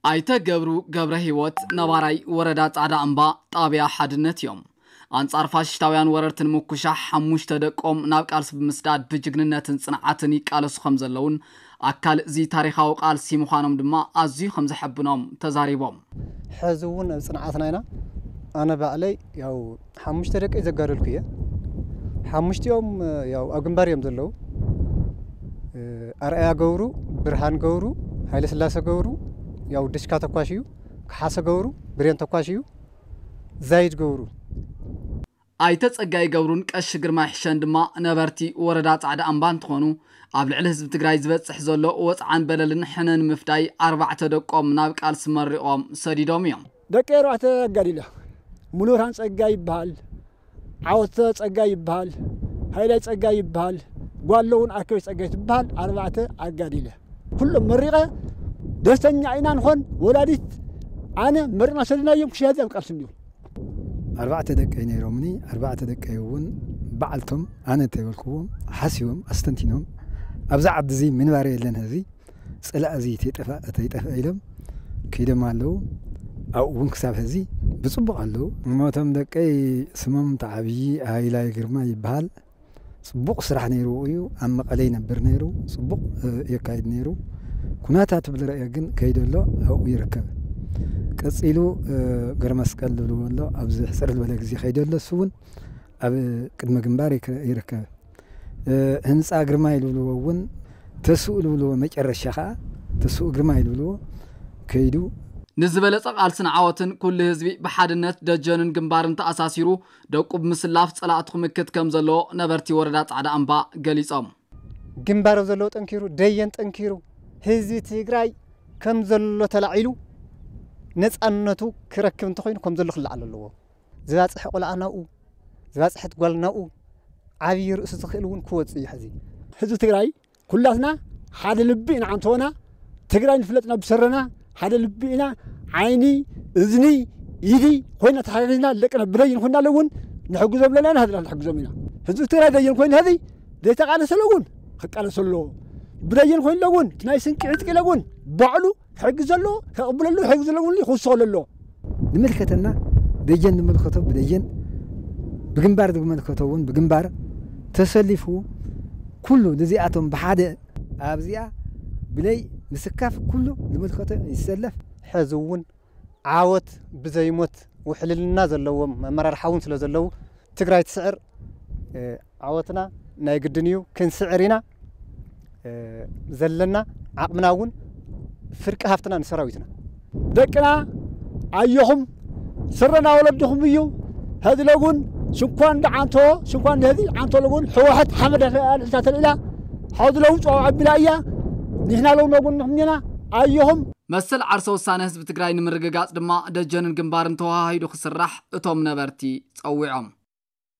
ኣይተ ገብሩ ገብረ ህይወት ነባራይ ወረዳ ጻዕዳ እምባ ጣብያ ሓድነት እዮም። ኣንጻር ፋሽስታውያን ወረርትን ምኩሻሕ ሓሙሽተ ደቆም ናብ ቃልሲ ብምስዳድ ብጅግንነትን ጽንዓትን ይቃለሱ ከም ዘለውን ኣካል እዚ ታሪኻዊ ቃልሲ ምዃኖም ድማ ኣዝዩ ከም ዘሐብኖም ተዛሪቦም። ሕዚ እውን ኣብ ጽንዓትና ኢና። ኣነ ባዕለይ ያው ሓሙሽተ ደቂ ዘጋደልኩ እየ። ሓሙሽቲኦም ያው ኣብ ግንባር እዮም ዘለዉ። ኣርኣያ ገብሩ፣ ብርሃን ገብሩ፣ ሃይለ ስላሰ ገብሩ፣ ያው ድሽካ ተኳሽ እዩ፣ ከሓሰ ገብሩ፣ ብሬን ተኳሽ እዩ፣ ዛይድ ገብሩ። ኣይተ ጸጋይ ገብሩን ቀሺ ግርማይ ሕሸን ድማ ነበርቲ ወረዳ ጻዕዳ ኣምባ እንትኾኑ፣ ኣብ ልዕሊ ህዝቢ ትግራይ ዝበጽሕ ዘሎ ወጽዓን በደልን ሕነ ንምፍዳይ ኣርባዕተ ደቆም ናብ ቃልሲ መሪቖም ሰዲዶም እዮም። ደቂ ኣርባዕተ ኣጋዲለ፣ ሙሉብርሃን ጸጋይ ይበሃል፣ ዓወተ ጸጋይ ይበሃል፣ ሃይላይ ጸጋይ ይበሃል፣ ጓል እውን ኣከበች ጸጋይ ትበሃል። ኣርባዕተ ኣጋዲለ ኩሎም መሪቐ ደስተኛ ኢና ንኾን። ወላዲት ኣነ መሪቕና ሰዲናዮም ክሽያዚ ኣብ ቃልሲ እንዲዮም። ኣርባዕተ ደቀይ ነይሮምኒ። ኣርባዕተ ደቀይ እውን በዓልቶም ኣነ እንተይበልክዎም ሓሲቦም ኣስተንቲኖም፣ ኣብዛ ዓዲ እዚ ምንባር የለን፣ ህዚ ጽላእ እዚ ተይጠፋ ተይጠፍአ ኢሎም ከይዶም ኣለዉ። ኣብኡ እውን ክሳብ ሕዚ ብጽቡቕ ኣለዉ። እሞቶም ደቀይ ስሞም ተዓብዪ ሃይላይ ግርማ ይበሃል። ጽቡቕ ስራሕ ነይሩ እዩ። ኣብ መቐለ ይነብር ነይሩ። ጽቡቕ፣ እ፣ የካይድ ነይሩ። ኩነታት ብዝረአ ግን ከይደሎ ኣብኡ ይርከብ። ቀጺሉ፣ እ፣ ገረመስቀል ዝብልዎ ኣሎ። ኣብዚ ሕጽር ዝበለ ግዜ ከይደሎ እሱ እውን ኣብ ቅድመ ግንባር ይክ-፣ ይርከብ። እ፣ ህንጻ ግርማይ ዝብልዎ እውን ተስኡ ዝብልዎ መጨረሻ ኸኣ ተስኡ ግርማይ ዝብልዎ ከይዱ። ንዝበለጸ ቃልስን ዓወትን ኩሉ ህዝቢ ብሓድነት ደጀንን ግንባርን ተኣሳሲሩ ደቁ ብምስላፍ ጸላእቱ ክምክት ከም ዘለዎ ነበርቲ ወረዳ ጻዕዳ ኣምባ ገሊጾም። ግንባር ኣብ ዘለዎ ጠንኪሩ፣ ደየን ጠንኪሩ፣ ህዝቢ ትግራይ ከም ዘሎ ተላዒሉ ነጻነቱ ክረክብ እንተኾይኑ ከም ዘሎ ክለዓል ኣለዎ። ዝባጽሐ ቆልዓ ናብኡ፣ ዝባጽሐት ጓል ናብኡ፣ ዓብዪ ርእሱ ዝኽእል እውን ክወጽእ እዩ። ሕዚ ህዝቢ ትግራይ ኩላትና ሓደ ልቢ ኢና። ዓንተወና ትግራይ ንፍለጥና ብሰረና ሓደ ልቢ ኢና። ዓይኒ፣ እዝኒ፣ ኢዲ ኮይና ተሓጋጊዝና ደቅና ብደይን ኮይና እውን ንሕግዞም ኣለና ኢና። ህዝብና ንሕግዞም ኢና። ህዝቢ ትግራይ ደይን ኮይኑ ሕዚ ዘይተቃለሰ እውን ክቃለስ ኣለዎ። ብደይን ኮይኑ እውን ናይ ስንቂ ዕጥቂ እውን ባዕሉ ክሕግዝ ዘለዎ፣ ከቕብለሉ ክሕግዝ ዘለዎ እውን ክውስኸሉ ኣለዎ። ዝምልከተና ደጀን ዝምልከቶ ብደጀን፣ ብግንባር ዝምልከቶ እውን ብግንባር ተሰሊፉ ኩሉ ነዚኣቶም ብሓደ ኣብዚኣ ብለይ ምስካፍ ኩሉ ዝምልከቶ ይሰለፍ። ሕዚ እውን ዓወት ብዘይሞት ውሕልልና ዘለዎም ኣመራርሓ እውን ስለ ዘለዉ ትግራይ ትስዕር። እ፣ ዓወትና ናይ ግድን እዩ፣ ክንስዕር ኢና። እ፣ ዘለና ዓቕምና እውን ፍርቂ ሃፍትና ንሰራዊትና። ደቅና ኣየኹም ስረና ወለድኹም እዩ። ሕዚ ለጉን ሽንኳን ደዓንቶ ሽንኳን ንህዚ ዓንቶ ለጉን ሕወሐት ሓመድ ኣልሒዛ ተልዒላ። ሕዚ ለውን ጸዋዕ ኣቢላ እያ። ንሕና ለው ነጉን ንሕምኔና ኣየኹም። መሰል ዓርሰ ውሳነ ህዝቢ ትግራይ ንምርግጋጽ ድማ ደጀንን ግንባርን ተዋሃሂዱ ክስራሕ እቶም ነበርቲ ጸዊዖም።